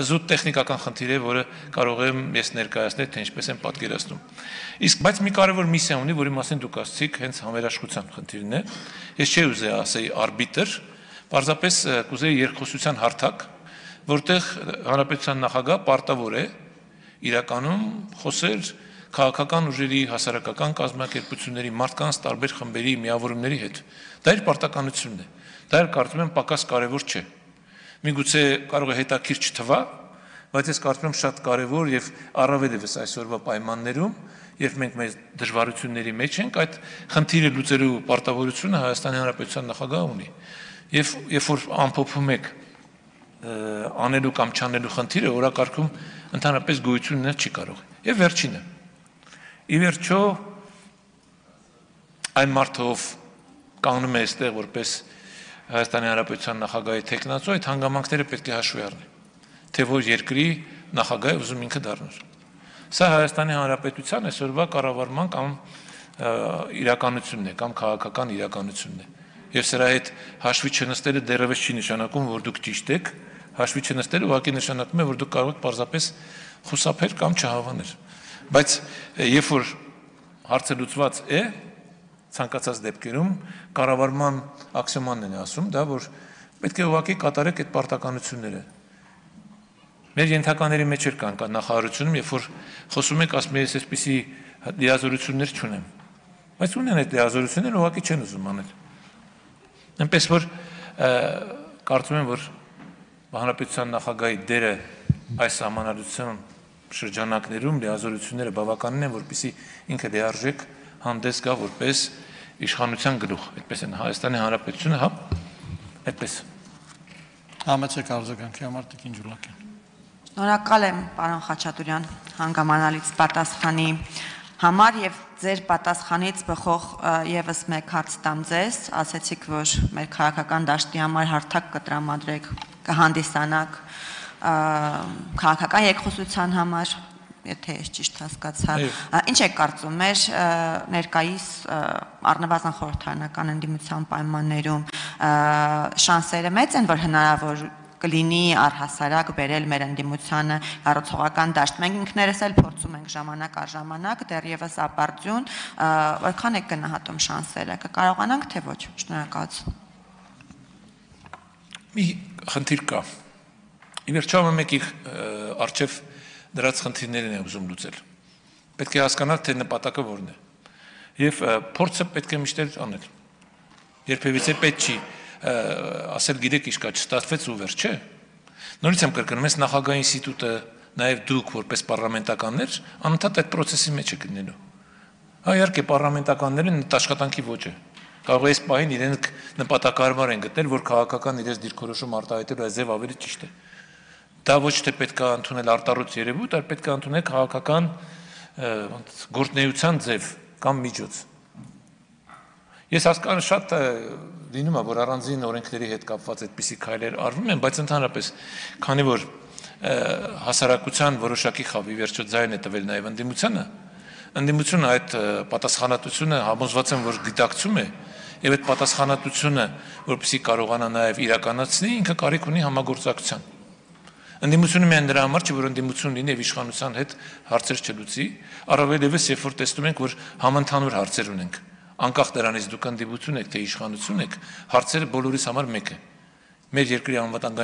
զուտ տեխնիկական խնդիր է, որը կարող եմ ես ներկայացնել, թե ինչպես են պատկերացնում։ Իսկ բայց մի կարևոր միսիա ունի, որի մասին դուք ասացիք, հենց համերաշխության խնդիրն է։ Ես չէի ուզեի ասեի արբիտր, պարզապես կուզեի երկխոսության հարթակ, որտեղ հանրապետության նախագահ պարտավոր է իրականում խոսել քաղաքական ուժերի, հասարակական կազմակերպությունների, մարդկանց տարբեր խմբերի միավորումների հետ։ Դա իր պարտականությունն է։ Դա կարծում եմ պակաս կարևոր չէ։ Միգուցե կարող է հետաքրքիր չթվա, բայց ես կարծում եմ շատ կարևոր եւ առավել եւս այսօրվա պայմաններում, երբ մենք մեր դժվարությունների մեջ ենք, այդ խնդիրը լուծելու պարտավորությունը Հայաստանի Հանրապետության նախագահը ունի։ Եվ երբ որ ամփոփում եք անելու կամ չանելու խնդիրը, օրակարգում ընդհանրապես գոյություն ունել չի կարող։ Եվ վերջինը։ Ի վերջո այն մարդով կանգնում է այստեղ որպես Հայաստանի Հանրապետության նախագահի թեկնածու, այդ հանգամանքները պետք է հաշվի առնի, թե որ երկրի նախագահը ուզում ինքը դառնար։ Սա Հայաստանի Հանրապետության այսօրվա կառավարման կամ իրականությունն է, կամ քաղաքական իրականությունն է։ Եվ սրա հետ հաշվի չնստելը դեռևս չի նշանակում, որ դուք ճիշտ եք, հաշվի չնստելը ուղղակի նշանակում է, որ դուք կարող եք պարզապես խուսափել կամ չհավանել։ Բայց երբ որ հարցը լուծված է, ցանկացած դեպքերում կառավարման աքսիոմանն են ասում, դա որ պետք է ուղղակի կատարեք այդ պարտականությունները։ Մեր ենթակաների մեջ կան նախարարությունում, երբ որ խոսում եք, ասում ես այսպիսի լիազորություններ չունեմ։ Բայց ունեն այդ լիազորությունները, ուղղակի չեն ուզում անել։ Այնպես որ կարծում եմ, որ հանրապետության նախագահի դերը այս համանալության շրջանակներում լիազորությունները բավականին են, որպեսզի ինքը լիարժեք հանդես գա որպես իշխանության գլուխ, այդպես են Հայաստանի Հանրապետությունը, հա, այդպես։ Համեցեք արձագանքի համար Տիկին Ջուլակյան։ Շնորհակալ եմ, պարոն Խաչատուրյան, հանգամանալից պատասխանի համար եւ ձեր պատասխանից բխող եւս մեկ հարց տամ ձեզ, ասացիք, որ մեր քաղաքական դաշտի համար հարթակ կտրամադրեք, կհանդիսանաք քաղաքական երկխոսության համար, եթե ես ճիշտ հասկացա, ինչ եք կարծում մեր ներկայիս առնվազն խորհրդարանական ընդդիմության պայմաններում շանսերը մեծ են, որ հնարավոր կլինի առհասարակ բերել մեր ընդդիմությանը կառուցողական դաշտ։ Մենք ինքներս էլ փորձում ենք ժամանակ առ ժամանակ, դեռևս ապարդյուն, որքան եք գնահատում շանսերը, կկարողանանք թե ոչ։ Շնորհակալություն։ Մի խնդիր կա։ Ի վերջո մեկի արչև դրած խնդիրներն է ուզում լուծել։ Պետք է հասկանալ, թե նպատակը որն է։ Եվ փորձը պետք է միշտ անել։ Երբևիցե պետք չի ասել գիտեք ինչ կա, չստացվեց ու վերջ, չէ։ Նորից եմ կրկնում, ես նախագահի ինստիտուտը, նաև դուք որպես պառլամենտականներ, անընդհատ այդ process-ի մեջ եք լինելու։ Հա, իհարկե պառլամենտականները աշխատանքի ոչ է։ Կարող է այս պահին իրենք նպատակահարմար են գտնել, որ քաղաքական իրենց դիրքորոշում արտահայտելու այս ձև ավելի ճիշտ է։ Դա ոչ թե պետք է ընդունել արտառոց երևույթ, այլ պետք է ընդունել քաղաքական գործունեության ձև կամ միջոց։ Ես հասկանում շատ լինում է, որ առանձին օրենքների հետ կապված այդպիսի քայլեր արվում են, բայց ընդհանրապես, քանի որ հասարակության որոշակի խավի վերջո ձայն է տվել նաև ընդդիմությունը այդ պատասխանատվությունը համոզված եմ, որ գիտակցում է, եւ այդ պատասխանատվությունը, որպեսզի կարողանա նաև իրականացնի, ինքը կարիք ունի համագործակցության։ Ընդդիմությունը միայն դրա համար չէ, որ ընդդիմություն լինի եւ իշխանության հետ հարցեր չլուծի, առավել եւս երբ որ տեսնում ենք, որ համընդհանուր հարցեր ունենք։ Անկախ դրանից դուք ընդդիմություն եք, թե իշխանություն եք, հարցերը բոլորիս համար մեկ է։ Մեր երկրի անվտանգային